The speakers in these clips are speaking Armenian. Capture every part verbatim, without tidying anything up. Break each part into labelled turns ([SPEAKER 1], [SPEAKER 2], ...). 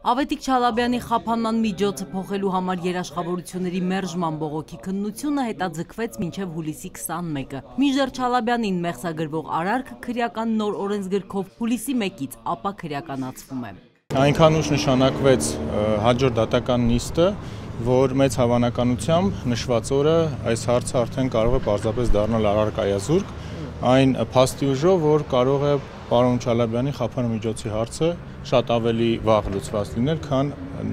[SPEAKER 1] Ավետիք Չալաբյանի խափանման միջոցը փոխելու համար երաշխավորությունների մերժման բողոքի քննությունը հետաձգվեց մինչև հուլիսի քսանմեկը։ Մինչդեռ Չալաբյանին մեղսագրվող արարքը քրեական նոր օրենսգրքով հուլիսի մեկից ապա քրեականացվում է։
[SPEAKER 2] Այնքան ուշ նշանակվեց հաջորդ դատական նիստը, որ մեծ հավանականությամբ նշված օրը այս հարցը արդեն կարող է պարզապես դառնալ առարկայազուրկ, այն փաստի ուժով, որ կարող է պարոն Չալաբյանի խափանման միջոցի հարցը շատ ավելի վաղ լուծված լինել, քան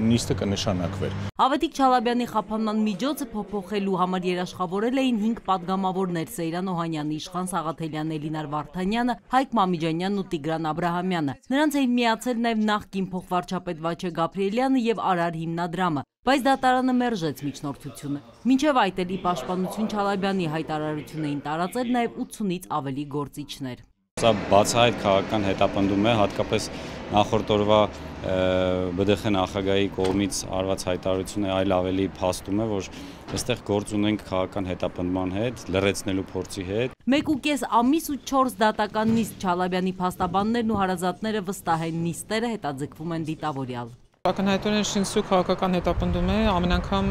[SPEAKER 2] նիստը կնշանակվեր։
[SPEAKER 1] Ավետիք Չալաբյանի խափանման միջոցը փոփոխելու համար երաշխավորել էին հինգ պատգամավորներ՝ Սեյրան Օհանյանը, Իշխան Սաղաթելյանը, Էլինար Վարդանյանը, Հայկ Մամիջանյանն ու Տիգրան Աբրահամյանը։ Նրանց էին միացել նաև նախկին փոխվարչապետ Վաչե Գաբրիելյանը եւ Արար հիմնադրամը, բայց դատարանը մերժեց միջնորդությունը։ Մինչև այդ էլ ի պաշտպանություն Չալաբյանի հայտարարություն էին տարածել նաև ութսունից ավելի գործիչներ։
[SPEAKER 3] Սա բացահայտ քաղաքական հետապնդում է, հատկապես նախորդ օրվա Բ ԴԽ նախագահի կողմից արված հայտարարությունը այլ ավելի փաստում է, որ այստեղ գործ ունենք քաղաքական հետապնդման հետ, լրացնելու փորձի հետ։
[SPEAKER 1] Մեկ ու կես ամիս ու չորս դատական նիստ Չալաբյանի փաստաբաններն ու հարազատները վստահ են, նիստերը հետաձգվում են դիտավորյալ։
[SPEAKER 4] Ակնհայտորեն շինսու քաղաքական հետապնդում է, ամեն անգամ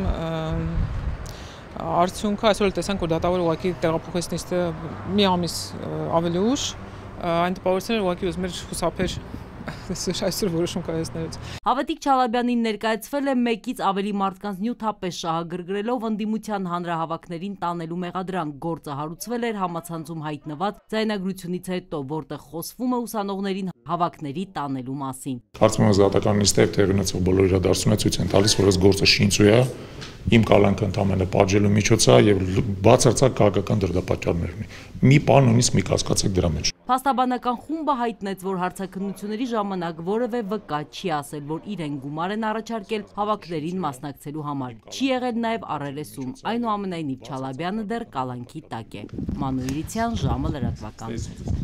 [SPEAKER 4] արդյունքը այսօր տեսանք, որ դատավորը ուղղակի տեղափոխեց նիստը մի ամիս ավելի ուշ, այն տպավորությունները ուղղակի ուզում էր խուսափեր այսօր որոշում կայացնելուց։
[SPEAKER 1] Ավետիք Չալաբյանին ներկայացվել է մեկից ավելի մարդկանց նյութապես շահագրգռելով ընդդիմության հանրահավաքներին տանելու մեղադրանք։ Գործը հարուցվել էր համացանցում հայտնված ձայնագրությունից հետո, որտեղ խոսվում է ուսանողներին հավաքների տանելու մասին։
[SPEAKER 5] Կարծում եմ դատական նիստը տեղի ունեցող բոլոր իրադարձությունները ցույց են տալիս, որ այս գործը շինծու է, իմ կալանքը ընդամենը պատժելու միջոց է եւ բացարձակ քաղաքական դրդապատճառներ ունի։ Մի բան նույնիսկ մի կասկածեք դրա մեջ։
[SPEAKER 1] Փաստաբանական խումբը հայտնեց, որ հարցաքննությունների ժամանակ որևէ վկա չի ասել, որ իրեն գումար են առաջարկել հավաքներին մասնակցելու համար։ Չի եղել նաև առերեսում, այնուամենայնիվ Չալաբյանը դեռ կալանքի տակ է։ Մանուիրցյան, ժամը լրատվական։